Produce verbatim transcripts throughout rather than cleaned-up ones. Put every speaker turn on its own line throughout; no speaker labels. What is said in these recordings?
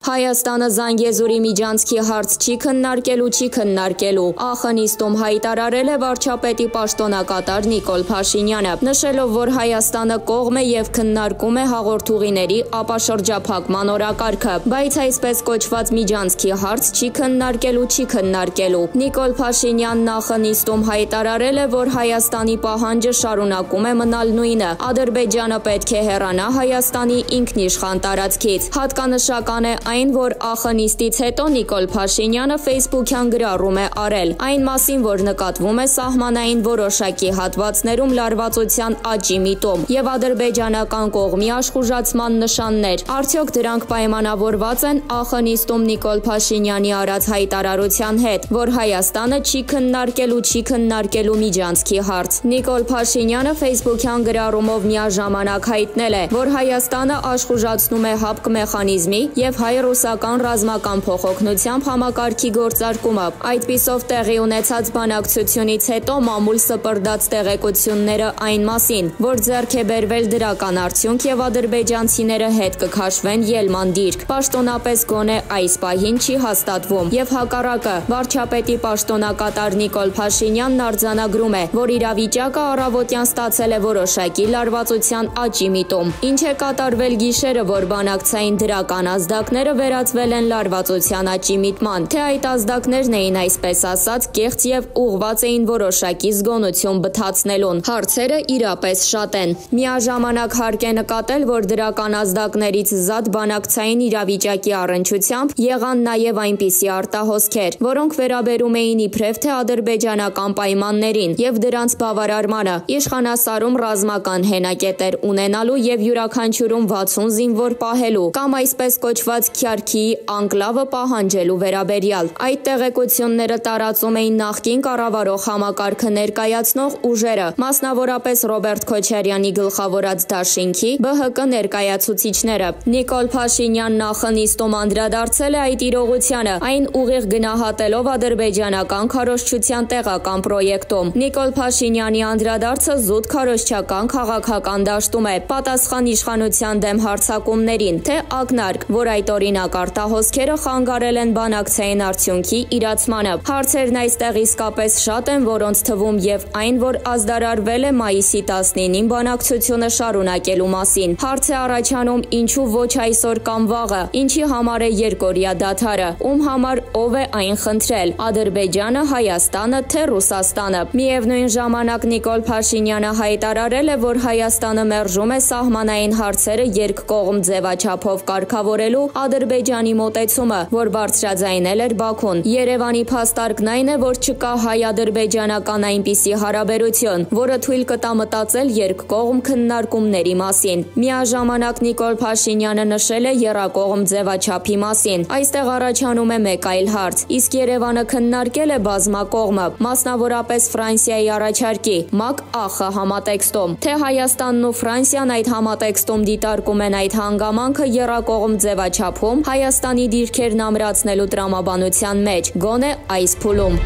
Հայաստանը Զանգեզուրի միջանցքի հարց չի քննարկելու, չի քննարկելու, ԱԽ նիստում հայտարարել է վարչապետի պաշտոնակատար Նիկոլ Փաշինյանը, նշելով, որ Հայաստանը կողմ է եւ քննարկում է հաղորդուղիների ապաշրջափակման օրակարգը, բայց այսպես կոչված միջանցքի հարց չի քննարկելու, չի քննարկելու։ Նիկոլ Փաշինյանն ԱԽ նիստում հայտարարել է, որ Հայաստանի պահանջը շարունակում է մնալ նույնը։ Ադրբեջանը պետք է հեռանա Հայաստանի ինքնիշխան տարածքից։ Հատկանշական է այն, որ ԱԽ նիստից հետո Նիկոլ Փաշինյանը Facebook-յան գրառում է արել այն մասին, որ նկատվում է սահմանային որոշակի հատվածներում լարվածության աճի միտում եւ ադրբեջանական կողմի աշխուժացման նշաններ։ Արդյոք դրանք պայմանավորված են ԱԽ նիստում Նիկոլ Փաշինյանի արած հայտարարության հետ, որ Հայաստանը չի քննարկելու, չի քննարկելու միջանցքի հարց։ Նիկոլ Փաշինյանը Facebook-յան գրառումով միաժամանակ հայտնել է, որ Հայաստանը աշխուժացնում է հապկ մեխանիզմի եւ հայ-ռուսական ռազմական փոխօգնությամբ համակարգի գործարկումը։ Այդպիսով տեղի ունեցած բանակցությունից հետո մամուլ սպրդած տեղեկությունները այն մասին, որ ձեռք է բերվել դրական արդյունք եւ ադրբեջանցիները հետ կքաշվեն ելման դիրք, պաշտոնապես գոնե այս պահին չի հաստատվում եւ հակառակը վարչապետի պաշտոնակատար Նիկոլ Փաշինյանն արձանագրում է, որ իրավիճակը առավոտյան ստացել է որոշակի լարվածության աճի միտում։ Ինչ է կատարվել գիշերը, որ բանակցային դրական ազդակները վերածվել են լարվածության աճի միտման, թե այդ ազդակներն էին այսպես ասած կեղծ եւ ուղղված էին որոշակի զգոնություն բթացնելուն։ Հարցերը իրապես շատ են։ Միաժամանակ հարկ է նկատել, որ դրական ազդակներից զատ բանակցային իրավիճակի առնչությամբ եղան նաեւ այնպիսի արտահոսքեր, որոնք վերաբերում էին իբրև թե ադրբեջանական պայմաններին եւ դրանց բավարարմանը, իշխանասարում ռազմական հենակետեր ունենալու եւ յուրաքանչյուրում վաթսուն զինվոր պահելու կամ այսպես կոչված Քյարքիի անկլավը պահանջելու վերաբերյալ։ Այդ տեղեկությունները տարածում էին նախկին կառավարող համակարգը ներկայացնող ուժերը, մասնավորապես Ռոբերտ Քոչարյանի գլխավորած դաշինքի ԲՀԿ ներկայացուցիչները։ Նիկոլ Փաշինյանն ԱԽ նիստում անդրադարձել է այդ իրողությանը, այն ուղիղ գնահատելով ադրբեջանական քարոզչության տեղական պրոյեկտում։ Նիկոլ Փաշինյանի անդրադարձը զուտ քարոզչական քաղաքական դաշտում է, պատասխան իշխանության դեմ հարձակումներին, թե ակնարկ, որ այդ օրինակ արտահոսքերը խանգարել են բանակցային արդյունքի իրացմանը։ Հարցերն այստեղ իսկապես շատ են, որոնց թվում եւ այն, որ ազդարարվել է մայիսի տասնինին բանակցությունը շարունակելու մասին։ Հարց է առաջանում, ինչու ոչ այսօր կամ վաղը, ինչի համար է երկօրյա դադարը, ում համար ով է այն խնդրել՝ Ադրբեջանը, Հայաստանը, թե Ռուսաստանը։ Միևնույն ժամանակ Նիկոլ Փաշինյանը հայտարարել է, որ Հայաստանը մերժում է սահմանային հարցերը երկկողմ ձևաչափով կարգավորելու Ադրբեջանի մոտեցումը, որ բարձրաձայնել էր Բաքուն։ Երևանի փաստարկն այն է, որ չկա հայ-ադրբեջանական այնպիսի հարաբերություն, որը թույլ կտա մտածել երկկողմ քննարկումների մասին։ Միաժամանակ Նիկոլ Փաշինյանը նշել է եռակողմ ձևաչափի մասին։ Այստեղ առաջանում է մեկ այլ հարց. իսկ Երևանը քննարկել է բազմակողմը, մասնավորապես Ֆրանսիայի առաջարկի ՄԱԿ-ԱԽ համատեքստում, թե Հայաստանն ու Ֆրանսիան այդ համատեքստում դիտարկում են այդ հանգամանքը եռակողմ ձևաչափում Հայաստանի դիրքերն ամրացնելու տրամաբանության մեջ, գոնե այս փուլում։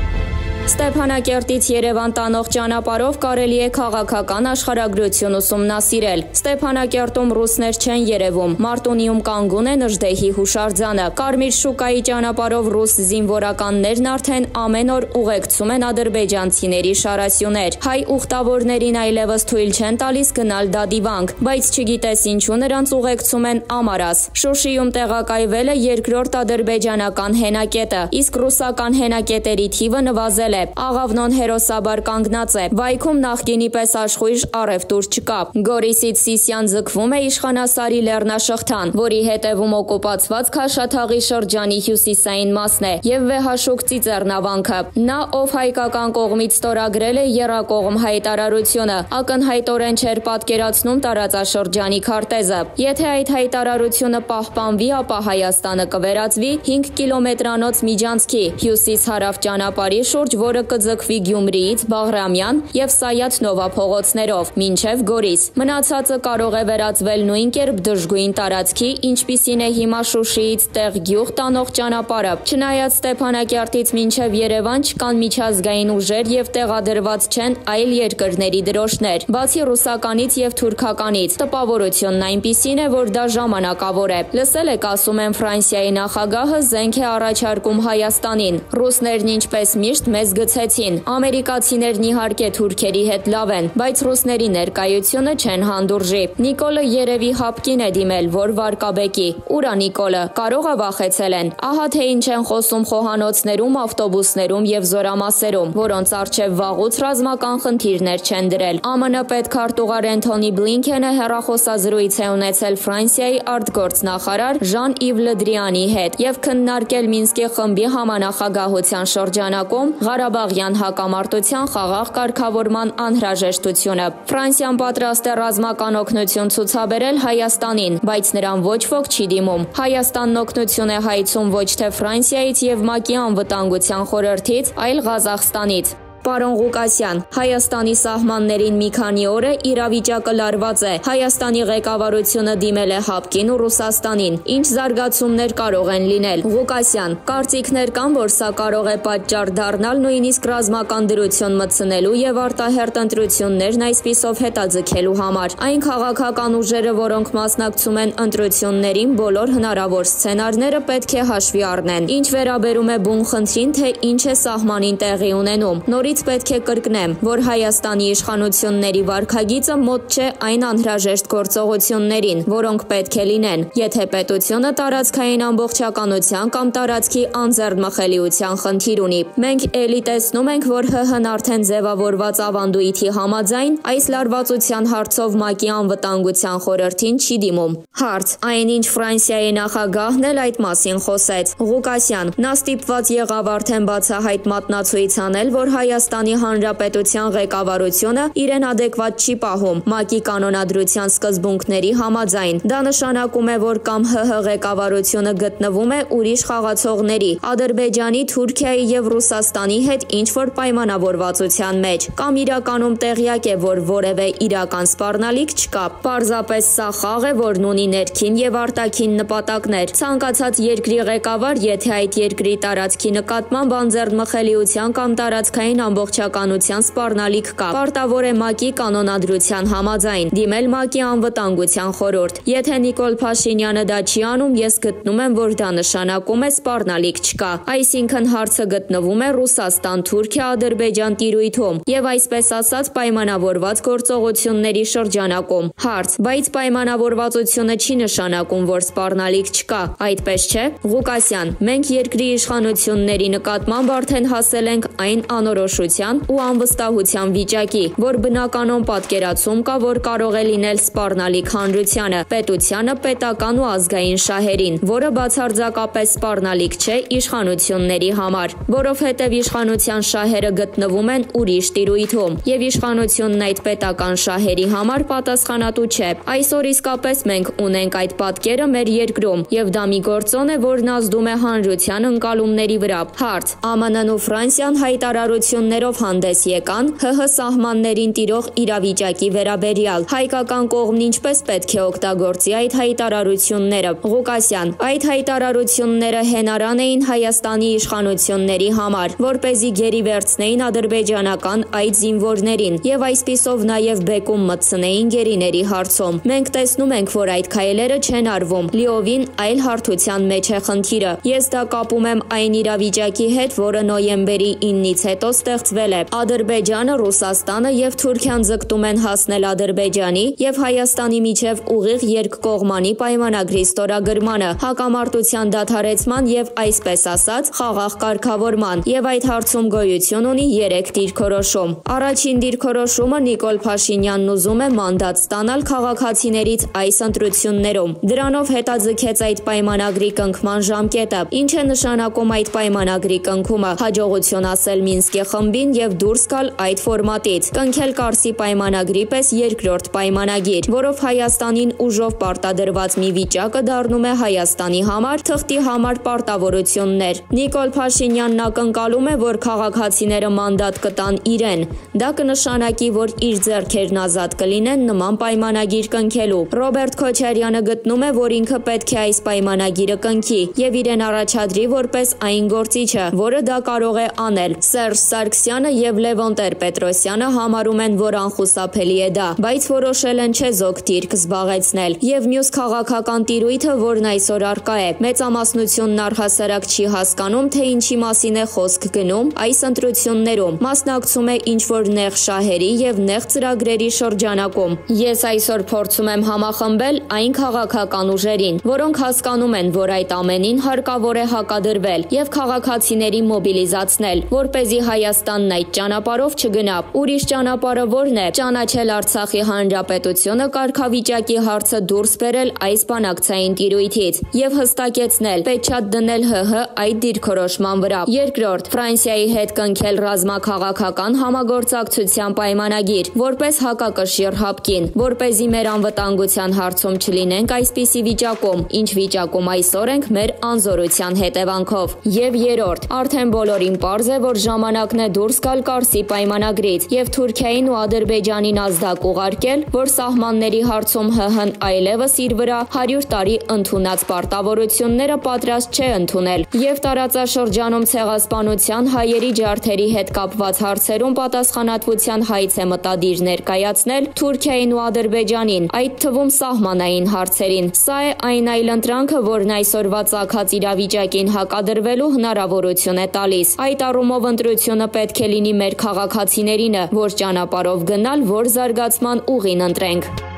Ստեփանակերտից Երևան տանող ճանապարհով կարելի է քաղաքական աշխարհագրություն ուսումնասիրել։ Ստեփանակերտում ռուսներ չեն երևում, Մարտունիում կանգուն է Նժդեհի հուշարձանը։ Կարմիր շուկայի ճանապարհով ռուս զինվորականներն արդեն ամեն օր ուղեկցում են ադրբեջանցիների շարասյուներ։ Հայ ուխտավորներին այլևս թույլ չեն տալիս գնալ դադիվանք, բայց չգիտես ինչու նրանց ուղեկցում են Ամարաս։ Շուշիում տեղակայվել է երկրորդ ադրբեջանական հենակետը, իսկ ռուսական հենակետերի թիվը նվազել է։ Աղավնոն հերոսաբար կանգնած է։ Վայքում նախկինի պես աշխույժ առևտուր չկա։ Գորիսից Սիսիան ձգվում է իշխանասարի լեռնաշղթան, որի հետևում օկուպացված Քաշաթաղի շրջանի հյուսիսային մասն է եւ Վեհաշուկ ծիծեռնավանքը։ Նա, ով հայկական կողմից ստորագրել է եռակողմ հայտարարությունը, ակնհայտորեն չէր պատկերացնում տարածաշրջանի քարտեզը։ Եթե այդ հայտարարությունը պահպանվի, ապա Հայաստանը կվերածվի հինգ կիլոմետրանոց միջանցքի հյուսիս-հարավ ճանապարհի շուրջ որը կձգվի Գյումրիից Բաղրամյան եւ Սայաթ Նովա փողոցներով մինչեւ Գորիս։ Մնացածը կարող է վերածվել նույն կերպ դժգույն տարածքի, ինչպիսին է հիմա Շուշիից տեղ գյուղ տանող ճանապարհը։ Չնայած Ստեփանակերտից մինչեւ Երևան չկան միջազգային ուժեր եւ տեղադրված չեն այլ երկրների դրոշներ, բացի ռուսականից եւ թուրքականից։ Տպավորությունն այնպիսին է, որ դա ժամանակավոր է։ Լսել եք, ասում են, Ֆրանսիայի նախագահը զենք է առաջարկում Հայաստանին։ Ռուսներն ինչպես միշտ մեզ գցեցին։ Ամերիկացիներն իհարկե թուրքերի հետ լավ են, բայց ռուսների ներկայությունը չեն հանդուրժի։ Նիկոլը երևի հապկին է դիմել, որ վարկաբեկի։ Ուրա Նիկոլը, կարող է վախեցել են։ Ահա թե ինչ են խոսում խոհանոցներում, ավտոբուսներում եւ զորամասերում, որոնց առջեւ վաղուց ռազմական խնդիրներ չեն դրել։ ԱՄՆ պետքարտուղար Էնթոնի Բլինքենը հեռախոսազրույց է ունեցել Ֆրանսիայի արտգործնախարար Ժան-Իվ Լը Դրիանի հետ եւ քննարկել Մինսկի խմբի համանախագահության շրջանակում Ղարաբաղյան հակամարտության խաղաղ կարգավորման անհրաժեշտությունը։ Ֆրանսիան պատրաստ է ռազմական օգնություն ցուցաբերել Հայաստանին, բայց նրան ոչ ոք չի դիմում։ Հայաստանն օգնություն է հայցում ոչ թե Ֆրանսիայից եւ ՄԱԿ-ի անվտանգության խորհրդից, այլ Ղազախստանից։ Պարոն Ղուկասյան, Հայաստանի սահմաններին մի քանի օր է իրավիճակը լարված է։ Հայաստանի ղեկավարությունը դիմել է Հապկին ու Ռուսաստանին։ Ինչ զարգացումներ կարող են լինել։ Ղուկասյան, կարծիքներ կան, որ սա կարող է պատճառ դառնալ նույնիսկ ռազմական դրություն մտցնելու եւ արտահերտ ընտրություններն այսպիսով հետաձգելու համար։ Այն քաղաքական ուժերը, որոնք մասնակցում են ընտրություններին, բոլոր հնարավոր սցենարները պետք է հաշվի առնեն։ Ինչ վերաբերում է բուն խնդրին, թե ինչ է սահմանին տեղի ունենում, նորից պետք է կրկնեմ, որ Հայաստանի իշխանությունների վարքագիծը մոտ չէ այն անհրաժեշտ գործողություններին, որոնք պետք է լինեն, եթե պետությունը տարածքային ամբողջականության կամ տարածքի անձեռնմխելիության խնդիր ունի։ Մենք էլի տեսնում ենք, որ ՀՀ-ն արդեն ձևավորված ավանդույթի համաձայն այս լարվածության հարցով ՄԱԿ-ի անվտանգության խորհրդին չի դիմում։ Հարց. այնինչ Ֆրանսիայի նախագահն էլ այդ մասին խոսեց։ Ղուկասյան, նա ստիպված եղավ արդեն բացահայտ մատնացույց անել, որ Հայաստանի Հանրապետության ղեկավարությունը իրեն ադեկվատ չի պահում ՄԱԿ-ի կանոնադրության սկզբունքների համաձայն։ Դա նշանակում է, որ կամ ՀՀ ղեկավարությունը գտնվում է ուրիշ խաղացողների՝ Ադրբեջանի, Թուրքիայի եւ Ռուսաստանի հետ ինչ-որ պայմանավորվածության մեջ, կամ իրականում տեղյակ է, որ որևէ իրական սպառնալիք չկա։ Պարզապես սա խաղ է, որն ունի ներքին եւ արտաքին նպատակներ։ Ցանկացած երկրի ղեկավար, եթե այդ երկրի տարածքի նկատմամբ անձեռնմխելիության կամ տարածքային ամբողջականության սպառնալիք կա, պարտավոր է ՄԱԿ-ի կանոնադրության համաձայն դիմել ՄԱԿ-ի անվտանգության խորհուրդ։ Եթե Նիկոլ Փաշինյանը դա չի անում, ես գտնում եմ, որ դա նշանակում է սպառնալիք չկա։ Այսինքն հարցը գտնվում է Ռուսաստան-Թուրքիա Ադրբեջան տիրույթում եւ այսպես ասած պայմանավորված գործողությունների շրջանակում։ Հարց. բայց պայմանավորվածությունը չի նշանակում, որ սպառնալիք չկա, այդպես չէ։ Ղուկասյան, մենք երկրի իշխանությունների նկատմամբ արդեն հասել ենք այն անորոշության ու անվստահության վիճակի, որ բնականon պատկերացում կա, որ կարող է լինել սպառնալիք հանրությանը, պետությանը, պետական ու ազգային շահերին, որը բացարձակապես սպառնալիք չէ իշխանությունների համար, որովհետև իշխանության շահերը գտնվում են ուրիշ տիրույթում, եւ իշխանությունն այդ պետական շահերի համար պատասխանատու չէ։ Այսօր իսկապես մենք ունենք այդ պատկերը մեր երկրում, եւ դա մի գործոն է, որն ազդում է հանրության ընկալումների վրա։ Հարց. ԱՄՆ-ն ու Ֆրանսիան հայտարարություններով հանդես եկան ՀՀ սահմաններին տիրող իրավիճակի վերաբերյալ։ Հայկական կողմն ինչպես պետք է օգտագործի այդ հայտարարությունները։ Ղուկասյան, այդ հայտարարությունները հենարան էին Հայաստանի իշխանությունների համար, որպեսզի գերի վերցնեին ադրբեջանական այդ զինվորներին եւ այսպիսով նաեւ բեկում մտցնեին գերիների հարցում։ Մենք տեսնում ենք, որ այդ քայլերը չեն արվում, լիովին այլ հարթության մեջ է խնդիրը։ Ես դա կապում եմ այն իրավիճակի հետ, որը նոյեմբերի իննից հետո ստեղծվել է։ Ադրբեջանը, Ռուսաստանը եւ Թուրքիան ձգտում են հասնել Ադրբեջանի եւ Հայաստանի միջև ուղիղ երկկողմանի պայմանագրի ստորագրմանը, հակամարտության դադարեցման եւ այսպես ասած խաղաղ կարգավորման, եւ այդ հարցում գոյություն ունի երեք դիրքորոշում։ Առաջին դիրքորոշումը Նիկոլ Փաշինյանն ուզում է մանդատ ստանալ քաղաքացիներից այս ընտրություններում։ Դրանով հետաձգեց այդ պայմանագրի կնքման ժամկետը։ Ինչ է նշանակում այդ պայմանագրի կնքումը, հաջողություն ասել Մինսկի խմբին։ խմբին եւ դուրս գալ այդ ֆորմատից, կնքել Կարսի պայմանագրի պես երկրորդ պայմանագիր, որով Հայաստանին ուժով պարտադրված մի վիճակը դառնում է Հայաստանի համար թղթի համար պարտավորություններ։ Նիկոլ Փաշինյանն ակնկալում է, որ քաղաքացիները մանդատ կտան իրեն։ Դա կնշանակի, որ իր ձեռքերն ազատ կլինեն նման պայմանագիր կնքելու։ Ռոբերտ Քոչարյանը գտնում է, որ ինքը պետք է այս պայմանագիրը կնքի եւ իրեն առաջադրի որպես այն գործիչը, որը դա կարող է անել։ Սերժ Սարգսյանը եւ Լևոն Տեր-Պետրոսյանը համարում են, որ անխուսափելի է դա, բայց որոշել են չեզոք դիրք զբաղեցնել։ Եվ մյուս քաղաքական տիրույթը, որն այսօր առկա է, մեծամասնությունն առհասարակ չի հասկանում, թե ինչի մասին է խոսք գնում այս ընտրություններում, մասնակցում է ինչ-որ նեղ շահերի եւ նեղ ծրագրերի շրջանակում։ Ես այսօր փորձում եմ համախմբել այն քաղաքական ուժերին, որոնք հասկանում են, որ այդ ամենին հարկավոր է հակադրվել եւ քաղաքացիներին մոբիլիզացնել, որպեսզի Հայաստանն այդ ճանապարհով չգնա։ Ուրիշ ճանապարհը որն է՝ ճանաչել Արցախի հանրապետությունը, կարգավիճակի հարցը դուրս բերել այս բանակցային տիրույթից եւ հստակեցնել, պետք դնել ՀՀ այդ դիրքորոշման վրա։ Երկրորդ, Ֆրանսիայի հետ կնքել ռազմաքաղաքական համագործակցության պայմանագիր, որպես հակակշիռ հապկին, որպեսզի մեր անվտանգության հարցում չլինենք այսպիսի վիճակում, ինչ վիճակում այսօր ենք մեր անզորության հետևանքով։ Եվ երրորդ, արդեն բոլորին պարզ է, որ ժամանակն է դուրս գալ Կարսի պայմանագրից եւ Թուրքիային ու Ադրբեջանին ազդակ ուղարկել, որ սահմանների հարցում ՀՀ-ն այլևս իր վրա հարյուր տարի ընդունած պարտավորությունները պատրաստ չէ ընդունել եւ տարածաշրջանում ցեղասպանության, հայերի ջարդերի հետ կապված հարցերում պատասխանատվության հայց է մտադիր ներկայացնել Թուրքիային ու Ադրբեջանին, այդ թվում սահմանային հարցերին։ Սա է այն այլընտրանքը, որն այսօրվա ծագած իրավիճակին հակադրվելու հնարավորություն է տալիս։ Այդ առումով ընտրությունը պետք է լինի մեր քաղաքացիներինը, որ ճանապարհով գնալ, որ զարգացման ուղին ընտրենք։